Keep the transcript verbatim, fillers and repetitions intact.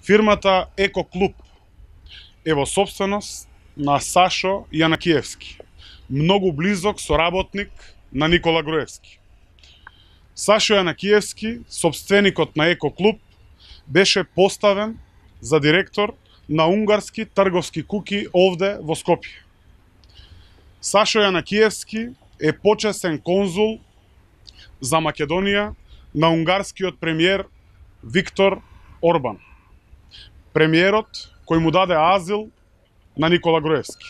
Фирмата Еко Клуб е во собственост на Сашо Јанакиевски, многу близок соработник на Никола Груевски. Сашо Јанакиевски, собственикот на Еко Клуб, беше поставен за директор на унгарски трговски куки овде во Скопје. Сашо Јанакиевски е почесен конзул за Македонија на унгарскиот премиер Виктор Орбан, премиерот кој му даде азил на Никола Груевски.